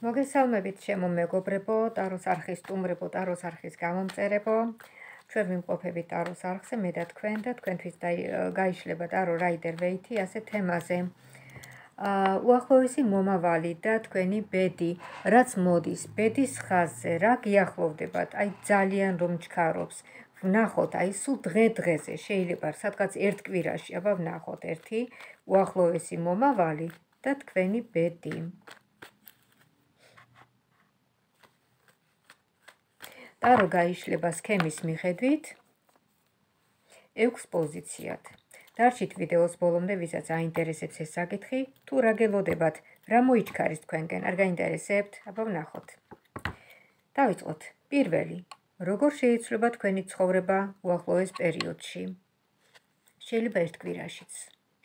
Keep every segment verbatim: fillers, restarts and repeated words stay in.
მოგესალმებით ჩემო მეგობრებო, ტაროს არხის სტუმრებო, ტაროს არხის გამომწერებო. ჩვენ ვიმყოფებით ტაროს არხზე, მე და თქვენ და თქვენთვის გაიშლება ტარო რაიდერ ვეითი ასე თემაზე. უახლოესი მომავალი და თქვენი ბედი, რაც მოდის, ბედის ხაზზე, რა გიახლოვდებათ, აი ძალიან რომ ჩქარობს. ვნახოთ, აი სულ დღე-დღეზე შეიძლება სადღაც ერთ კვირაში, აბა ვნახოთ ერთი უახლოესი მომავალი და თქვენი ბედი. ტარო გაიშლება სქემის მიხედვით ექვს პოზიციად. დარჩით ვიდეოს ბოლომდე, ვისაც აინტერესებს ეს საკითხი, თუ რა გელოდებათ, რა მოიჩქარის თქვენგან, არ გაინტერესებთ, აბა ვნახოთ. დავიწყოთ. პირველი, როგორ შეიცვლება თქვენი ცხოვრება უახლოეს პერიოდში? შეიძლება ერთ კვირაშიც,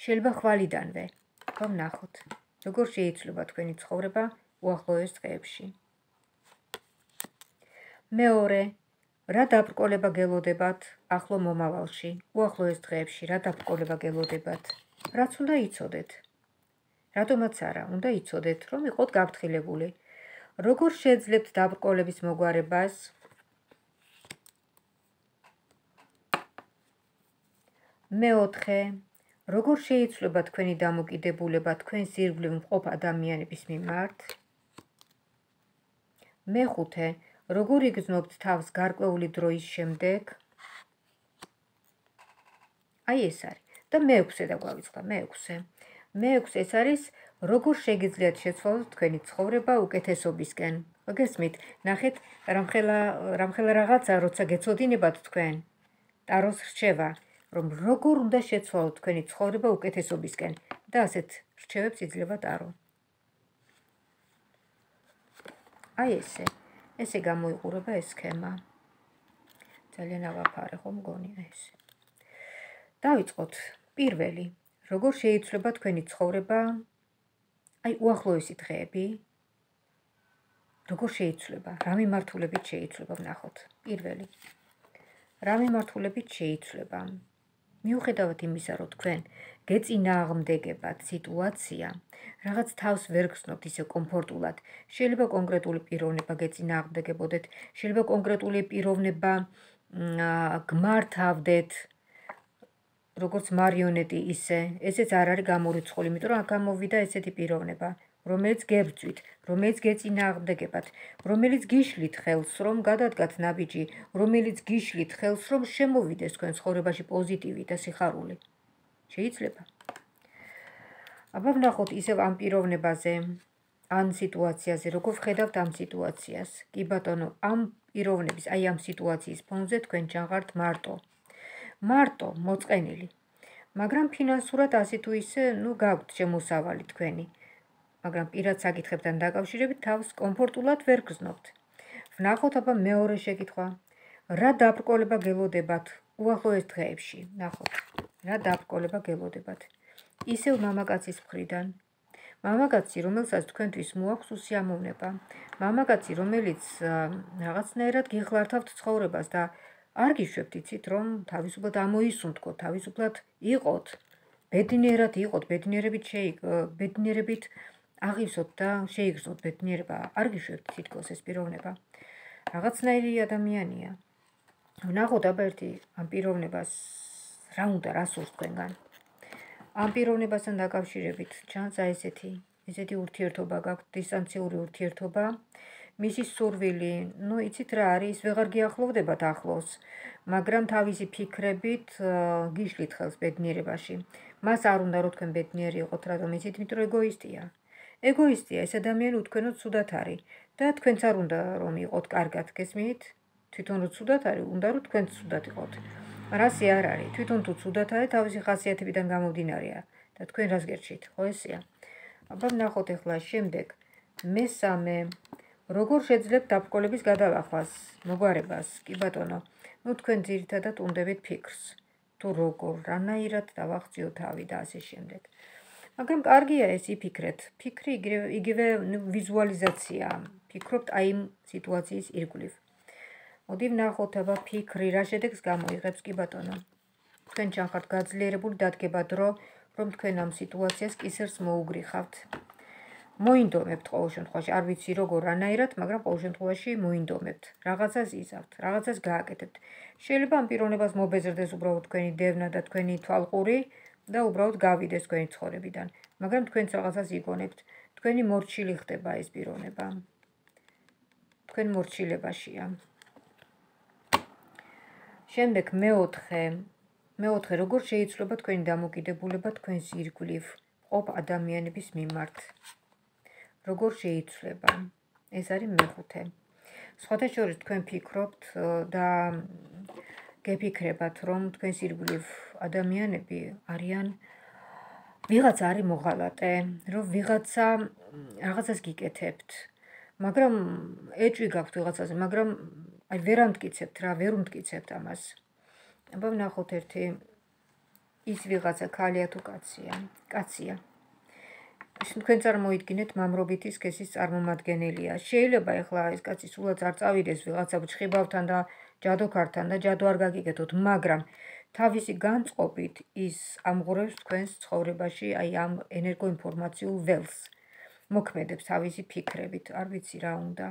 შეიძლება ხვალიდანვე, აბა ვნახოთ. როგორ შეიცვლება თქვენი ცხოვრება უახლოეს დღეებში? მეორე, რა დაბრკოლება გელოდებათ ახლო მომავალში, უახლოეს დღეებში, რა დაბრკოლება გელოდებათ? რაც უნდა იცოდეთ? რატომაც არა, უნდა იცოდეთ, რომ იყოთ გაფრთხილებული. როგორ შეძლებთ დაბრკოლების მოგვარებას? მეოთხე, როგორ შეიცვლება თქვენი დამოკიდებულება თქვენს ირგვლივ მყოფ ადამიანების მიმართ? მეხუთე, როგორ იგრძნობთ თავს გარკვეული დროის შემდეგ? აი ეს არის. და მეექვსე დაგვავიწყდა, მეექვსე. მეექვსე ეს არის, როგორ შეგიძლიათ შეცვალოთ თქვენი ცხოვრება უკეთესობისკენ. გესმით, ნახეთ, რამხელა რამხელა რაღაცა, როცა გეცოდინებათ თქვენ, ტაროს რჩევა, რომ როგორ უნდა შეცვალოთ თქვენი ცხოვრება უკეთესობისკენ და ასეთ რჩევებს იძლევა ტარო. აი ესე. ესე გამოიყურება ეს სქემა. ძალიან ავაფარე ხომ მგონი ეს. დავიწყოთ. პირველი, როგორ შეიცვლება თქვენი ცხოვრება აი უახლოესი დღეები? როგორ შეიცვლება? რა მიმართულებით შეიცვლება, ვნახოთ. პირველი. რა მიმართულებით შეიცვლება? მიუხედავად იმისა, რომ თქვენ გეწინააღმდეგებათ სიტუაცია, რაღაც თავს ვერ გრძნობთ ისე კომფორტულად, შეიძლება კონკრეტული პიროვნება გეწინააღმდეგებოდეთ, შეიძლება კონკრეტული პიროვნება გმართავდეთ, როგორც მარიონეტი ისე, ესეც არ არის გამორიცხული, იმიტომ რომ აქ გამოვიდა ესეთი პიროვნება, რომელიც გებრძვით, რომელიც გეწინააღმდეგებათ, რომელიც გიშლით ხელს, რომ გადადგათ ნაბიჯი, რომელიც გიშლით ხელს, რომ შემოვიდეს თქვენ ცხოვრებაში პოზიტივი და სიხარული. შეიძლება? აბა ვნახოთ ისევ ამ პიროვნებაზე, ამ სიტუაციაზე, როგორ ვხედავთ ამ სიტუაციას. კი ბატონო, ამ პიროვნების, აი ამ სიტუაციის ფონზე თქვენ ჩაღართ მარტო. მარტო, მოწყენილი. მაგრამ ფინანსურად ასე თუ ისე, ნუ გაქვთ შემოსავალი თქვენი. მაგრამ პირად საკითხებთან დაკავშირებით თავს კომფორტულად ვერ გრძნობთ. ვნახოთ აბა მეორე შეკითხვა. რა დაბრკოლება გელოდებათ უახლოეს დღეებში? ნახოთ. რა დაბრკოლება გელოდებათ? ისევ მამაკაცის მხრიდან. მამაკაცი, რომელსაც თქვენთვის მოაქვს უსიამოვნება. მამაკაცი, რომელიც რაღაცნაირად გიხლართავთ ცხოვრებას და არ გიშვებთ, იცით, რომ თავისუფლად ამოისუნთქოთ, თავისუფლად იყოთ, ბედნიერად იყოთ, ბედნიერებით ბედნიერებით აღივსოთ და შეიგრძნოთ ბედნიერება. არ გიშვებთ თითქოს ეს პიროვნება. რაღაცნაირი ადამიანია. ვნახოთ აბა ერთი ამ პიროვნებას რა უნდა, რა სურს თქვენგან. ამ პიროვნებასთან დაკავშირებით ჩანს აი ესეთი, ესეთი ურთიერთობა გაქვთ, დისტანციური ურთიერთობა. მისი სურვილი, ნუ იცით რა არის, ვეღარ გიახლოვდებათ ახლოს, მაგრამ თავისი ფიქრებით გიშლით ხელს ბედნიერებაში. მას არ უნდა რომ თქვენ ბედნიერი იყოთ, რატომ იცით, იმიტომ რომ ეგოისტია. ეგოისტია, ეს ადამიანი უთქვენოდ ცუდად არის და თქვენც არ უნდა რომ იყოთ კარგად, გესმით? თვითონ რო ცუდად არის, უნდა რომ თქვენც ცუდად იყოთ. რასი არ არის, თვითონ თუ ცუდად არის, თავისი ხასიათებიდან გამომდინარეა და თქვენ რას გერჩით, ხო ესეა? აბა ვნახოთ ახლა შემდეგ. მესამე, როგორ შეძლებთ დაბრკოლების გადალახვას, მოგვარებას? კი ბატონო, ნუ თქვენ ძირითადად უნდებით ფიქრს, თუ როგორ, რანაირად დავახციო თავი და ასე შემდეგ. მაგრამ კარგია ეს იფიქრეთ. ფიქრი იგივე ვიზუალიზაცია. ფიქრობთ აი იმ სიტუაციის ირგვლივ. მოდი ვნახოთ აბა ფიქრი რა შედეგს გამოიღებს, კი ბატონო. თქვენ ჩახართ გაძლიერებული, დადგება დრო, რომ თქვენ ამ სიტუაციას კისერს მოუგრიხავთ. მოინდომებთ ყოველ შემთხვევაში, არ ვიცი როგორ რანაირად, მაგრამ ყოველ შემთხვევაში მოინდომებთ. რაღაცას იზავთ, რაღაცას გააკეთებთ. შეიძლება ამ პიროვნებას მობეზრდეს უბრალოდ თქვენი დევნა და თქვენი თვალყური და უბრალოდ გავიდეს თქვენი ცხოვრებიდან. მაგრამ თქვენც რაღაცას იგონებთ. თქვენი მორჩილი ხდება ეს პიროვნება. თქვენ მორჩილებაშია. შემდეგ მეოთხე, მეოთხე როგორ შეიცვლება თქვენი დამოკიდებულება თქვენს ირგვლივ მყოფ ადამიანების მიმართ. როგორ შეიცვლება? ეს არის მეხუთე. სხვათა შორის თქვენ ფიქრობთ და გეფიქრებათ, რომ თქვენს ირგვლივ ადამიანები არიან ვიღაცა არის მოღალატე, რომ ვიღაცა რაღაცას გიკეთებთ, მაგრამ ეჭვი გაქვთ ვიღაცაზე, მაგრამ აი ვერ ამტკიცებთ რა, ვერ უმტკიცებთ ამას. აბა ვნახოთ ერთი ის ვიღაცა ქალია თუ კაცია, კაცია. თქვენ წარმოიდგინეთ მამრობითი სქესის წარმომადგენელია. შეიძლება ეხლა ეს კაცი სულაც არ წავიდეს ვიღაცა ჭხიბავთან და ჯადოქართან და ჯადო არ გაგიკეთოთ, მაგრამ თავისი განწყობით ის ამღვრევს თქვენს ცხოვრებაში აი ამ ენერგოინფორმაციულ ველს. მოქმედებს თავისი ფიქრებით, არ ვიცი რა უნდა.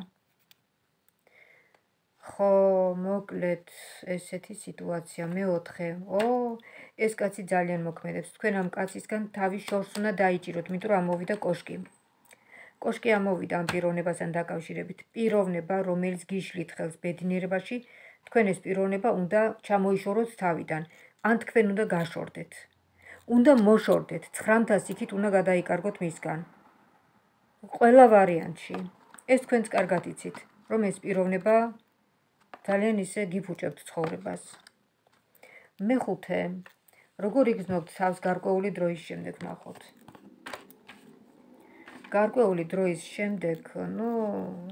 ხო, მოკლედ ესეთი სიტუაცია. მეოთხე, ო, ეს კაცი ძალიან მოქმედებს. თქვენ ამ კაცისგან თავის შორს უნდა დაიჭიროთ, იმიტომ რომ ამოვიდა კოშკი. კოშკი ამოვიდა ამ პიროვნებასთან დაკავშირებით. პიროვნება, რომელიც გიშლით ხელს ბედნიერებაში, თქვენ ეს პიროვნება უნდა ჩამოიშოროთ თავიდან, ან თქვენ უნდა გაშორდეთ. უნდა მოშორდეთ, ცხრამთას იქით უნდა გადაიკარგოთ მისგან. ყველა ვარიანტში. ეს თქვენც კარგად იცით, რომ ეს პიროვნება ძალიან ისე გიფუჭებთ ცხოვრებას. მეხუთე, როგორ იგრძნობთ თავს გარკვეული დროის შემდეგ ნახოთ. გარკვეული დროის შემდეგ, ну,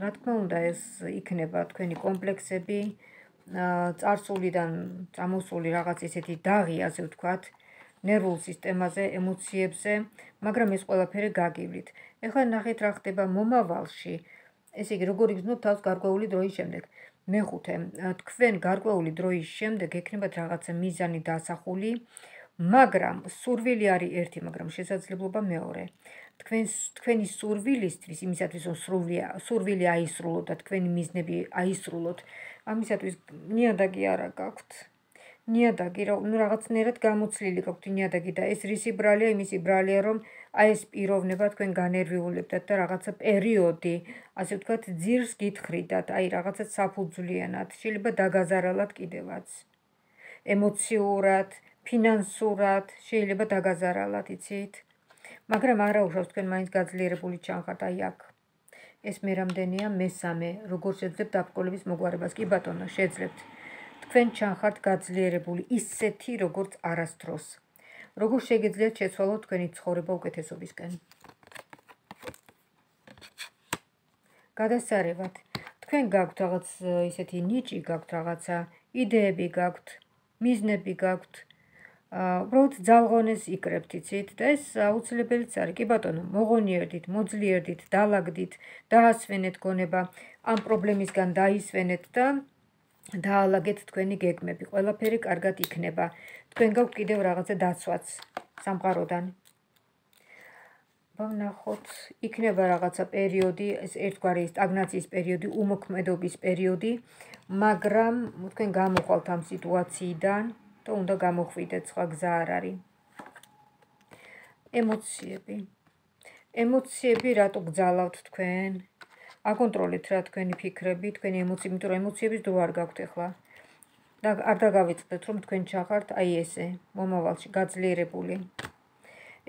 რა თქმა უნდა, ეს იქნება თქვენი კომპლექსები, წარსულიდან წამოსული რაღაც ისეთი დაღი, ასე ვთქვათ, ნერვულ სისტემაზე, ემოციებზე, მაგრამ ეს ყველაფერი გაგივლით. ეხლა ნახეთ რა ხდება მომავალში. ესე იგი, როგორ იგრძნობთ თავს გარკვეული დროის შემდეგ. მეხუთე, თქვენ გარკვეული დროის შემდეგ ექნებათ რაღაცა მიზანი დასახული, მაგრამ სურვილი არის ერთი, მაგრამ შესაძლებლობა მეორე. თქვენს თქვენი სურვილისთვის, იმისათვის რომ სურვილი აისრულოთ და თქვენი მიზნები აისრულოთ, ამისათვის ნიადაგი არა გაქვთ. ნიადაგი ნუ რაღაცნაირად გამოცლილი გაქვთ ნიადაგი და ეს რისი ბრალია, იმისი ბრალია, რომ აი ეს პიროვნება თქვენ განერვიულებდათ და რაღაცა პერიოდი, ასე ვთქვათ, ძირს გითხრიდათ, აი რაღაცა საფუძვლიანად, შეიძლება დაგაზარალად კიდევაც. ემოციურად, ფინანსურად, შეიძლება დაგაზარალად, იცით? მაგრამ არა უშავს თქვენ მაინც გაძლიერებული ჩანხართ აი აქ. ეს მე რამდენია მესამე, როგორ შეძლებთ დაბრკოლების მოგვარებას? კი ბატონო, შეძლებთ. თქვენ ჩანხართ გაძლიერებული, ისეთი როგორც არასდროს. როგორ შეგიძლიათ შეცვალოთ თქვენი ცხოვრება უკეთესობისკენ? გადასარევად. თქვენ გაქვთ რაღაც ისეთი ნიჭი, გაქვთ რაღაცა იდეები გაქვთ, მიზნები გაქვთ. უბრალოდ ძალღონეს იკრებთ, იცით? და ეს აუცილებელიც არის. კი ბატონო, მოღონიერდით, მოძლიერდით, დაალაგდით, დაასვენეთ გონება, ამ პრობლემისგან დაისვენეთ და დაალაგეთ თქვენი გეგმები. ყველაფერი კარგად იქნება. თქვენ გაქვთ კიდევ რაღაცა დაცვაც სამყაროდან. ვნახოთ, იქნება რაღაცა პერიოდი, ეს ერთგვარი სტაგნაციის პერიოდი, უმოქმედობის პერიოდი, მაგრამ თქვენ გამოხვალთ ამ სიტუაციიდან და უნდა გამოხვიდეთ, სხვა გზა არ არის. ემოციები. ემოციები რატო გძალავთ თქვენ? აკონტროლეთ რა თქვენი ფიქრები, თქვენი ემოციები, იმიტომ რომ ემოციების დრო არ გაქვთ ახლა. და არ დაგავიწყდეთ, რომ თქვენ ჩახართ აი ესე, მომავალში გაძლიერებული.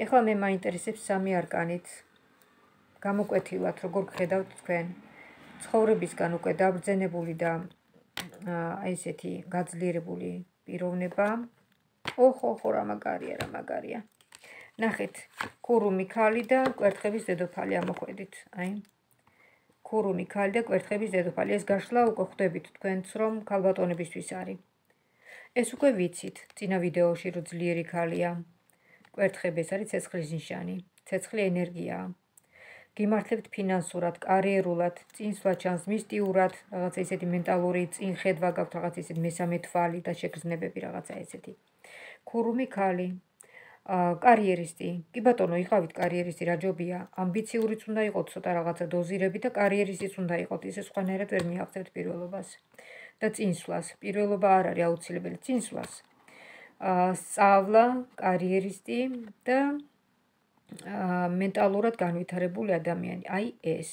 ეხლა მე მაინტერესებს სამი არკანით. გამოკვეთილად, როგორ გხედავთ თქვენ ცხოვრებისგან უკვე დაბრძენებული და აი ესეთი გაძლიერებული პიროვნება. ოხ, ოხ, რა მაგარია, რა მაგარია. ნახეთ, ქურუმი ქალი და კვერთხების დედოფალი ამოხვედით, აი. ქურუმი ქალი და კვერთხების დედოფალი. ეს გაშლა უკვე ხვდებით თქვენც, რომ ქალბატონებისთვის არის. ეს უკვე ვიცით, წინა ვიდეოში რო ძლიერი ქალია. კვერთხები ეს არის ცეცხლის ნიშანი, ცეცხლი ენერგიაა. გიმართლებთ ფინანსურად, კარიერულად, წინსვლა ჩანს მისტიურად, რაღაცა ისეთი მენტალური წინხედვა გაქვთ, რაღაცა ისეთი მესამე თვალი და შეგრძნებები, რაღაცა ესეთი. ქურუმი ქალი. კარიერისტი. კი ბატონო, იყავით კარიერისტი, რა ჯობია. ამბიციურიც უნდა იყოთ ცოტა რაღაცა დოზირები და კარიერისტიც უნდა იყოთ, ისე სხვანაირად ვერ მიაღწევთ პირველობას. და წინსვლას. პირველობა არ არის აუცილებელი, წინსვლას. სწავლა, კარიერისტი და მენტალურად განვითარებული ადამიანი. აი ეს.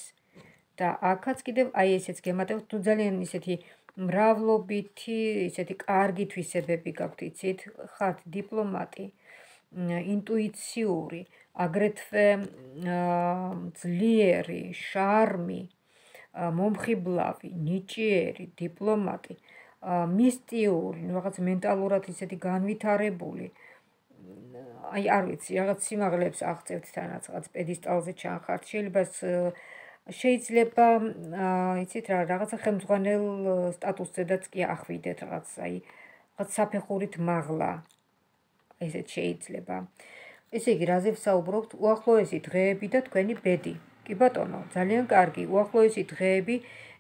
და აქაც კიდევ აი ესეც გემატებთ, თუ ძალიან ისეთი მრავლობითი, ისეთი კარგი თვისებები გაქვთ, იცით, ხართ დიპლომატი, ინტუიციური, აგრეთვე ძლიერი, შარმი, მომხიბლავი, ნიჭიერი, დიპლომატი, მისტიური, რაღაც მენტალურად ისეთი განვითარებული. აი არ ვიცი, რაღაც სიმაღლეებს აღწევთ თანაც, რაღაც პედესტალზე ჩანხართ, შეიძლება შეიძლება, იცით რა, რაღაცა ხელმძღვანელ სტატუსზედაც კი ახვიდეთ, რაღაც აი, რაღაც საფეხურით მაღლა. ესეც შეიძლება. ესე იგი, რაზე ვსაუბრობთ? უახლოესი დღეები და თქვენი ბედი. კი ბატონო, ძალიან კარგი, უახლოესი დღეები.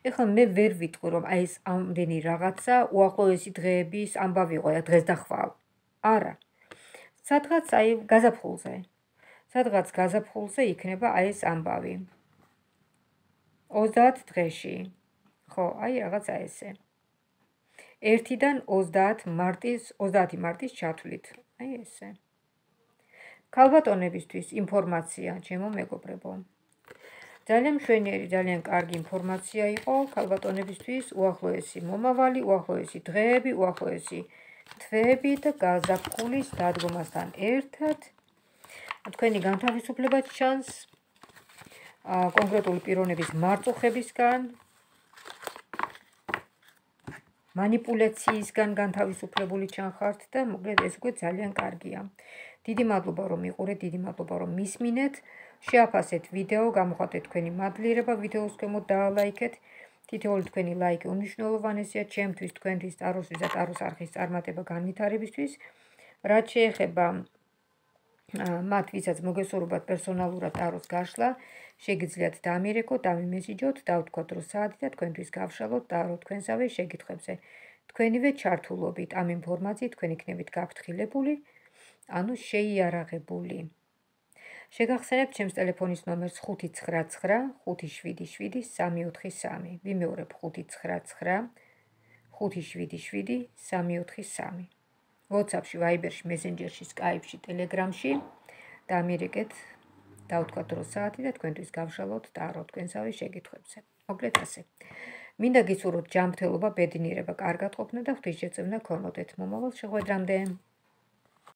ეხლა მე ვერ ვიტყვი, რომ აი ეს ამდენი რაღაცა უახლოესი დღეების ამბავი იყო, დღეს და ხვალ. არა. სადღაც აი გაზაფხულზე. სადღაც გაზაფხულზე იქნება აი ეს ამბავი. ოცდაათ დღეში. ხო, აი რაღაცა ესე. ერთიდან ოცდაათ მარტის, ოცდაათი მარტის ჩათვლით. აი ესე. ქალბატონებისთვის ინფორმაცია, ჩემო მეგობრებო. ძალიან მშვენიერი, ძალიან კარგი ინფორმაცია იყო ქალბატონებისთვის, უახლოესი მომავალი, უახლოესი დღეები, უახლოესი თვეები და გაზაფხულის დადგომასთან ერთად თქვენი განთავისუფლება ჩანს კონკრეტული პიროვნების მარწუხებისგან, манипуляციისგან განთავისუფლებული ჩანხართ და მოკლედ ეს უკვე ძალიან კარგია. დიდი მადლობა რომ მიყურეთ, დიდი მადლობა რომ მისმინეთ. შეაფასეთ ვიდეო, გამოხატეთ თქვენი მადლიერება ვიდეოს ქვემოთ დაალაიქეთ. თითოეული თქვენი ლაიკი უმნიშვნელოვანესია ჩემთვის, თქვენთვის, ტაროსთვის და ტაროს არხის წარმატება განვითარებისთვის. რაც შეეხება მათ, ვისაც მოგესურვებათ პერსონალურად ტაროს გაშლა, შეგიძლიათ დამირეკოთ, დამიმესიჯოთ, დავთქვათ რომ საათი და თქვენთვის გავშალოთ ტარო თქვენსავე შეკითხვებზე. თქვენივე ჩართულობით ამ ინფორმაციით თქვენ იქნებით გაფრთხილებული, ანუ შეიარაღებული. შეგახსენებთ ჩემს ტელეფონის ნომერს ხუთი ცხრა ცხრა ხუთი შვიდი შვიდი სამი ოთხი სამი. ვიმეორებ ხუთი ცხრა ცხრა ხუთი შვიდი შვიდი სამი ოთხი სამი. WhatsApp-ში, Viber-ში, Messenger-ში, Skype-ში, Telegram-ში დამირეკეთ, დავთქვათ რომ საათი და თქვენთვის გავშალოთ ტარო თქვენსავე შეკითხვებზე. მოკლედ ასე. მინდა გისურვოთ ჯანმრთელობა, ბედნიერება, კარგად ყოფნა და ღვთისმშეწევნა გქონოდეთ. მომავალ შეხვედრამდე.